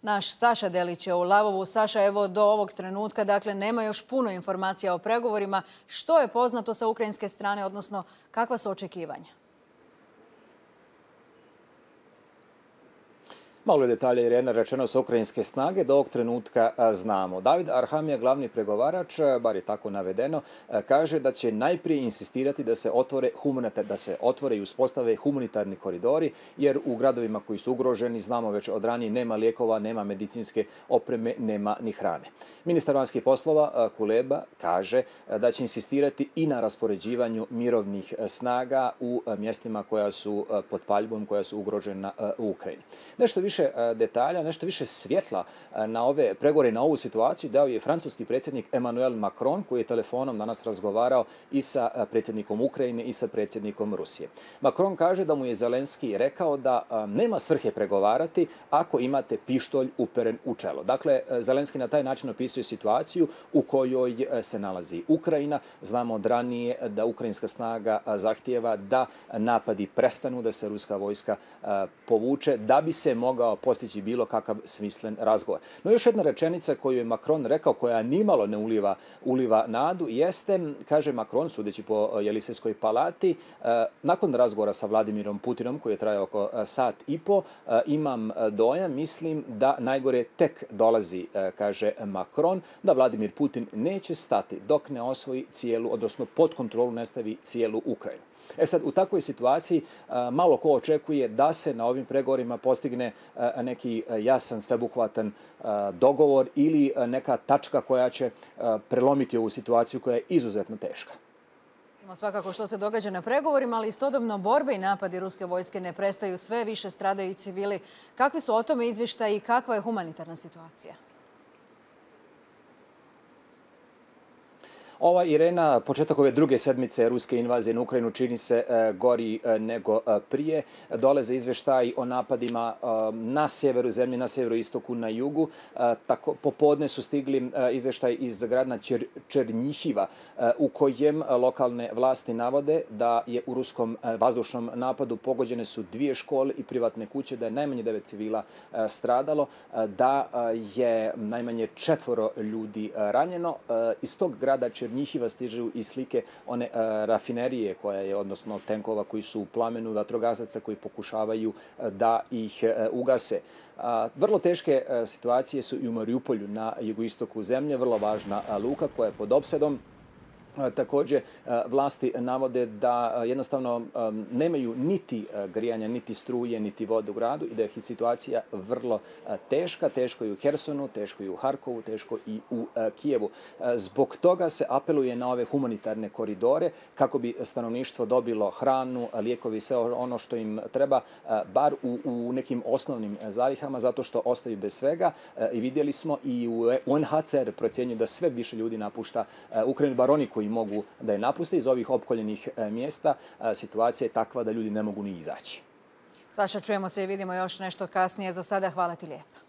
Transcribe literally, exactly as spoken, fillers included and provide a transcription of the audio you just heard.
Naš Saša Delić je u Lavovu. Saša, evo do ovog trenutka, dakle, nema još puno informacija o pregovorima. Što je poznato sa ukrajinske strane, odnosno kakva su očekivanja? Malo je detalja, Irena, rečeno sa ukrajinske snage, do ovog trenutka znamo. David Arhamija, glavni pregovarač, bar je tako navedeno, kaže da će najprije insistirati da se otvore da se otvore i uspostave humanitarni koridori, jer u gradovima koji su ugroženi, znamo već od ranije, nema lijekova, nema medicinske opreme, nema ni hrane. Ministar vanjskih poslova Kuleba kaže da će insistirati i na raspoređivanju mirovnih snaga u mjestima koja su pod paljbom, koja su ugrožena u Ukrajini. Nešto više detalja, nešto više svjetla na ove pregovore, na ovu situaciju dao je francuski predsjednik Emmanuel Macron, koji je telefonom danas razgovarao i sa predsjednikom Ukrajine i sa predsjednikom Rusije. Macron kaže da mu je Zelenski rekao da nema svrhe pregovarati ako imate pištolj uperen u čelo. Dakle, Zelenski na taj način opisuje situaciju u kojoj se nalazi Ukrajina. Znamo od ranije da ukrajinska snaga zahtijeva da napadi prestanu, da se ruska vojska povuče, da bi se mogao postići bilo kakav smislen razgovor. No još jedna rečenica koju je Macron rekao, koja nimalo ne uliva, uliva nadu, jeste, kaže Macron, sudeći po Jelisejskoj palati, nakon razgovora sa Vladimirom Putinom, koji je trajao oko sat i po, imam dojam, mislim da najgore tek dolazi, kaže Macron, da Vladimir Putin neće stati dok ne osvoji cijelu, odnosno pod kontrolu ne stavi cijelu Ukrajinu. E sad, u takvoj situaciji malo ko očekuje da se na ovim pregovorima postigne neki jasan, sveobuhvatan dogovor ili neka tačka koja će prelomiti ovu situaciju koja je izuzetno teška. Svakako što se događa na pregovorima, ali istodobno borbe i napadi ruske vojske ne prestaju, sve više stradaju i civili. Kakvi su o tome izvještaji i kakva je humanitarna situacija? Ova, Irena, početak ove druge sedmice ruske invazije na Ukrajinu čini se gori nego prije. Dolaze izvještaji o napadima na sjeveru zemlje, na sjeveroistoku, na jugu. Tako, popodne su stigli izvještaj iz grada Černjihiva u kojem lokalne vlasti navode da je u ruskom vazdušnom napadu pogođene su dvije škole i privatne kuće, da je najmanje devet civila stradalo, da je najmanje četvoro ljudi ranjeno. Iz tog grada Černjihiva stižu i slike one rafinerije koja je, odnosno tenkova koji su u plamenu, vatrogasaca koji pokušavaju da ih ugase. Vrlo teške situacije su i u Mariupolju na jugoistoku zemlje, vrlo važna luka koja je pod opsedom. Također, vlasti navode da jednostavno nemaju niti grijanja, niti struje, niti vode u gradu i da je situacija vrlo teška. Teško je u Hersonu, teško je u Harkovu, teško i u Kijevu. Zbog toga se apeluje na ove humanitarne koridore kako bi stanovništvo dobilo hranu, lijekovi i sve ono što im treba, bar u, u nekim osnovnim zalihama, zato što ostaju bez svega. I vidjeli smo i U N H C R procjenjuje da sve više ljudi napušta Ukrajinu, bar oni koji mogu da je napuste iz ovih opkoljenih mjesta. Situacija je takva da ljudi ne mogu ni izaći. Saša, čujemo se i vidimo još nešto kasnije. Za sada hvala ti lijepo.